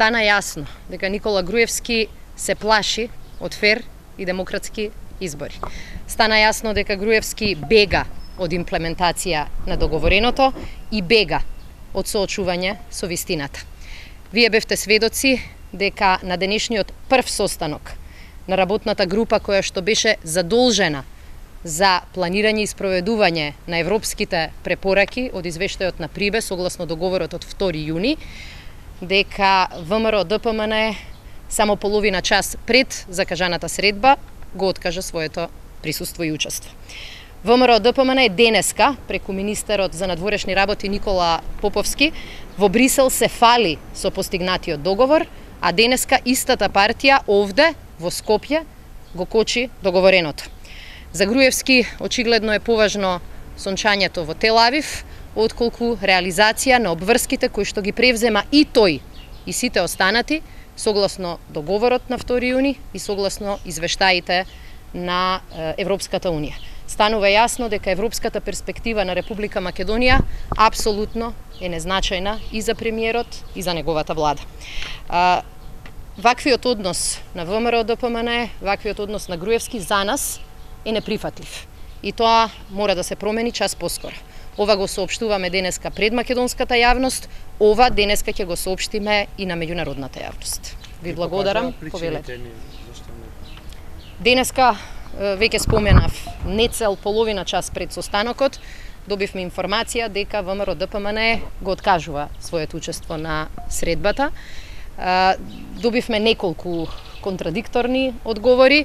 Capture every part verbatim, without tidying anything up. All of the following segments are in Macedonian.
стана јасно дека Никола Груевски се плаши од фер и демократски избори. Стана јасно дека Груевски бега од имплементација на договореното и бега од соочување со вистината. Вие бевте сведоци дека на денешниот прв состанок на работната група која што беше задолжена за планирање и спроведување на европските препораки од извештајот на Прибе согласно договорот од втори јуни, дека ВМРО Д П М Н само половина час пред закажаната средба го откажа своето присуство и учество. ВМРО Д П М Н денеска, преку министерот за надворешни работи Никола Поповски, во Брисел се фали со постигнатиот договор, а денеска истата партија овде, во Скопје, го кочи договореното. За Груевски очигледно е поважно сончањето во Тел Авив, отколку реализација на обврските кои што ги превзема и тој и сите останати, согласно договорот на втори јуни и согласно извештаите на Европската Унија. Станува јасно дека европската перспектива на Република Македонија апсолутно е незначајна и за премиерот и за неговата влада. Ваквиот однос на ВМРО Д П М Н, ваквиот однос на Груевски за нас е неприфатлив. И тоа мора да се промени час поскоро. Ова го соопштуваме денеска пред македонската јавност, ова денеска ќе го соопштиме и на меѓународната јавност. Ви благодарам, повелете. Денеска, веќе споменав, не цел половина час пред состанокот, добивме информација дека ВМРО Д П М Н го откажува своето учество на средбата. Добивме неколку контрадикторни одговори.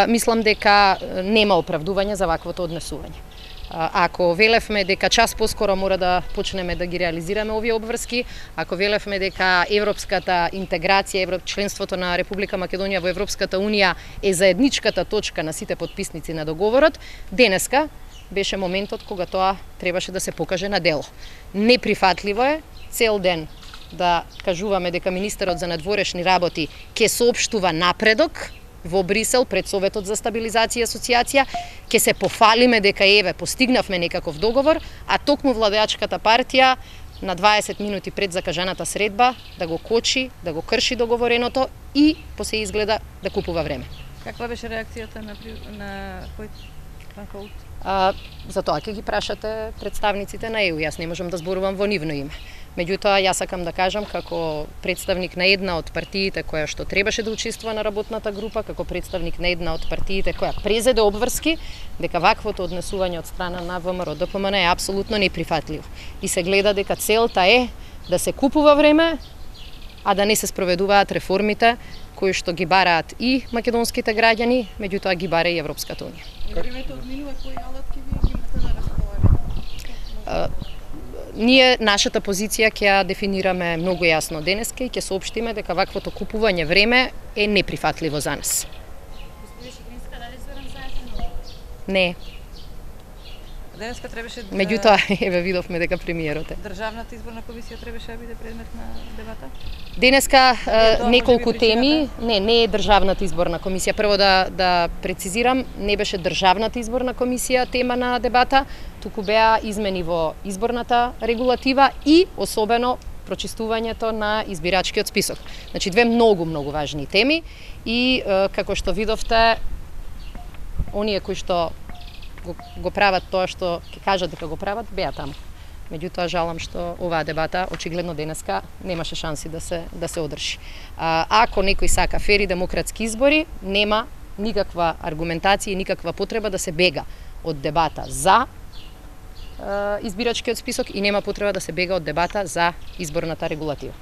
Мислам дека нема оправдување за ваквото однесување. Ако велевме дека час поскоро мора да почнеме да ги реализираме овие обврски, ако велевме дека европската интеграција, членството на Република Македонија во Европската Унија е заедничката точка на сите потписници на договорот, денеска беше моментот кога тоа требаше да се покаже на дело. Неприфатливо е цел ден да кажуваме дека министерот за надворешни работи ќе соопштува напредок во Брисел пред Советот за стабилизација и асоциација, ќе се пофалиме дека еве постигнавме некаков договор, а токму владеачката партија на дваесет минути пред закажаната средба да го кочи, да го крши договореното и посе изгледа да купува време. Каква беше реакцијата на на кој Панкаут? А, за тоа ќе ги прашате представниците на Е У, јас не можам да зборувам во нивно име. Меѓутоа, јас сакам да кажам како представник на една од партиите која што требаше да учествува на работната група, како представник на една од партиите која презеде обврски, дека ваквото однесување од страна на ВМРО Д П М Н е апсолутно неприфатливо. И се гледа дека целта е да се купува време, а да не се спроведуваат реформите кои што ги бараат и македонските граѓани, меѓутоа ги бара и Европската Унија. Времето одминува, кои алатки вие ги имате на располагање? Ние нашата позиција ќе ја дефинираме многу јасно денеска и ќе соопштиме дека ваквото купување време е неприфатливо за нас. Господин Шегринска, дали Зоран Заев? Не. Денеска требаше да... Меѓутоа, еве видовме дека премиерот е. Државната изборна комисија требаше да биде предмет на дебата? Денеска е, неколку теми, не, не е државната изборна комисија. Прво да да прецизирам, не беше државната изборна комисија тема на дебата, туку беа измени во изборната регулатива и особено прочистувањето на избирачкиот список. Значи две многу многу важни теми и е, како што видовте, оние кои што го, го прават тоа што ќе кажат дека го прават, беа таму. Меѓутоа жалам што оваа дебата очигледно денеска немаше шанси да се да се одржи. А, ако некој сака фери демократски избори, нема никаква аргументација и никаква потреба да се бега од дебата за е, избирачкиот список и нема потреба да се бега од дебата за изборната регулатива.